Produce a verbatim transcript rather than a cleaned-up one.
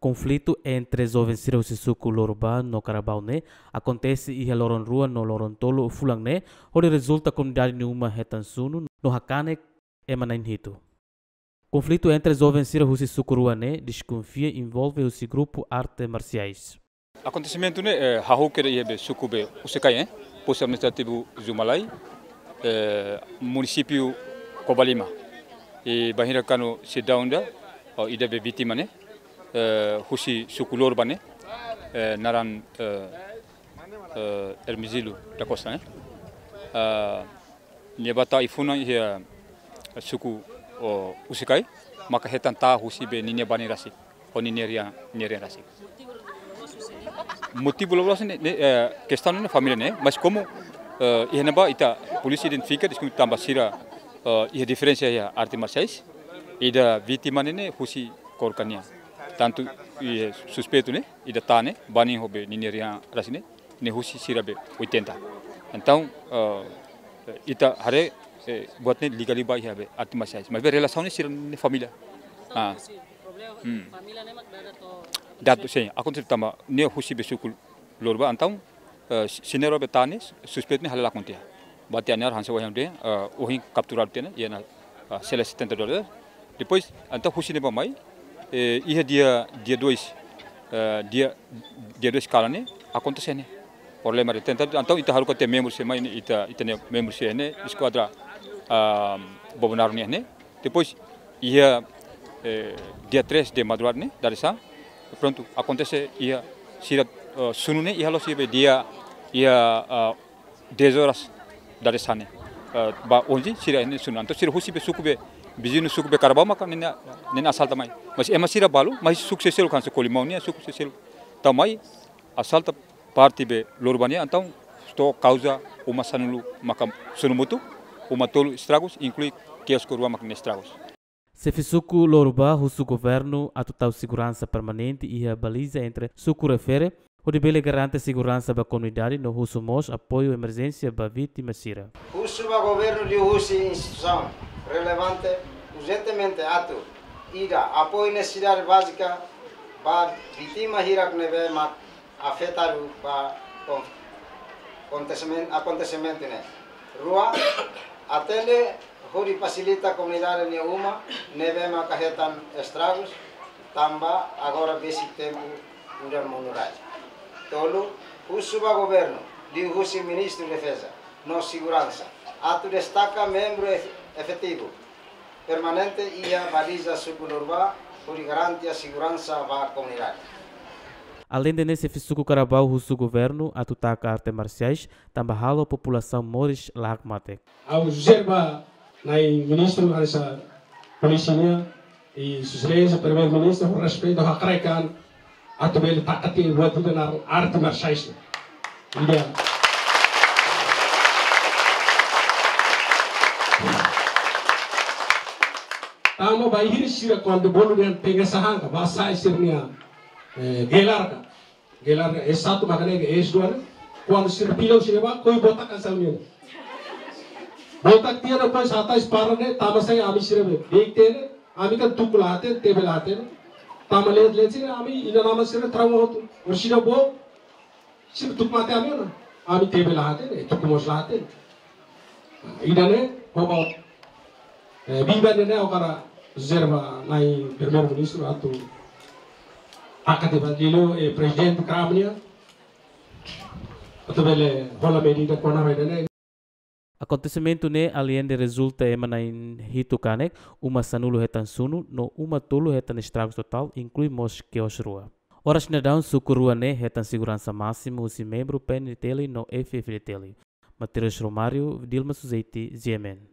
Konflitu entre joven sira husi suku Lorubá no Karabau ne'e akontese iha loron rua no loron tolu fulan ne'e, hodi rezulta komunidade nia uma hetan sunu no hakanek ema na'in hitu. Konflitu entre joven sira husi suku rua ne'e deskonfia envolve husi grupu arte marsiais. Akontesimentu ne'e, eh, hahú kedas iha be suku be Usikai, eh, postu administrativu Zumalai, eh, munisípiu Covalima. I bainhira kuandu seidaun ida, oh, ida be vítima ne'e, eh, husi suku Lorubá ne'e, eh, naran, eh, eh, Hermesilo da Costa ne'e. Ah, nia bá tau ai-funan iha suku, oh, Usikai, maka hetan ta'a husi be ninia banin rasik, ho ninia rian, ninia rian rasik. Motivu loloos ne'e, ne'e, eh, kestaun ne'e família ne'e, mas komu, eh, iha ne'ebá ita polísia identifika, deskonfia tanba sira, eh, iha diferensa iha arte marsiais, ida vítima ne'e, ne'e husi kór ka nian. Tantu iha suspeitu ne'e, ida ta'a ne'e, banin ho be ninia rian rasik ne'e, ne'e husi sira be oitenta. Entaun, eh, ita haree, eh, buat ne'e liga liba iha be arte marsiais. Mas be relasaun ne'e sira ne'e família. Ah. Hmm. Datu, sin, akontese tanba ne'e husi be suku Lorubá, entaun, eh, si-, sira ne'ebé ta'a ne'e, suspeitu ne'e hela lakon tiha. Bá tiha nia ar hanesan ohin dehan, eh, ohin kapturadu tiha ona, iha ona, eh, sela setenta dólares. Depois, entaun husi ne'ebá mai, eh, iha dia, dia dois, eh, dia, dia dois kalan ne'e, akontese ne'e. Problema de atentadu, entaun ita haruka tiha membru sira mai ne'e, ita, ita-nia membru sira ne'e, eskuadra, ah, Bobonaro nian ne'e. Depois, iha, eh, dia três de madrugada ne'e, dadeer-saan, prontu, akontese iha sira, eh, sunu ne'e, iha loos iha be dia, iha, ah, dez horas dadeer-saan ne'e. Eh, ba onze sira ne'e sunu. Entaun sira husi be suku be, viziñu suku be Karabau maka ne'e, ne'e asalta mai. Mas ema sira balu, mas suku sira seluk hanesan Colimão nian, suku sira seluk. Tau mai, asalta parte be Lorubá nian, entaun to'o kauza uma sanulu maka sunu motu, uma tolu estragus, inklui kiosku rua maka ne'e estragus. Xefe suku Lorubá husu governu atu tau seguransa permanente iha baliza entre suku refere, hodi bele garante seguransa ba komunidade no husu mós apoiu emerjénsia ba vítima sira. Husu ba governu liuhusi instituisaun relevante urjentemente atu, ida, apoiu nesesidade bázika ba vítima hirak ne'ebé mak afetadu ba kon-, akontesimen-, akontesimentu ne'e. Rua, atende hodi fasilita komunidade nia uma ne'ebé maka hetan estragus tanba agora besik tempu udan monu rai. Tolu, husu ba governu liuhusi Ministru Defeza no Seguransa atu destaka membru ef-, efetivu permanente iha baliza suku Lorubá hodi garantia seguransa ba komunidade. Aleinde ne'e, xefe suku Karabau husu governu atu taka arte marsiais tanba halo populasaun moris la hakmatek. Ha'u jere ba nai ministru hanesan polísia nian, i sua exelénsia primeiru-ministru, ho respeitu, hakerek an atu bele taka tiha buat ida naran arte marsiais. Ida. Tanba bainhira sira kuandu bolu dehan tenke sahang ka, bá sai sira-nia, eh, gelar ka. Gelar S satu maka ne'e S dua ne'e. Kuandu sira pilau sira bá, koi botak hanesan ne'e. Botak tiha depois hatais para ne'e, tanba sá ami sira be. Deik tiha ne'e, ami kan tuku la hatene, tebe la hatene. Tanba leet-leet sira, ami inan-aman sira trauma hotu. Orsida bo, sira tuku mate ami ona. Ami tebe la hatene, tuku mós la hatene. Ida-ne'e, ho ba, eh, biban ida-ne'e ha'u hakarak jere ba nai primeiru-ministru atu taka tiha ba liuliu, eh, prezidente Kramnia atu bele hola medida kona-ba ida-ne'e. Akontesimentu ne'e aleinde rezulta ema na'in hitu kanek, uma sanulu hetan sunu, no uma tolu hetan estragus totál, inklui mós kios rua. Oras ne'e daudaun suku rua ne'e hetan seguransa másimu husi membru P N T L no F F D T L. Mateus Romário, Dilma Suzeti, G M N.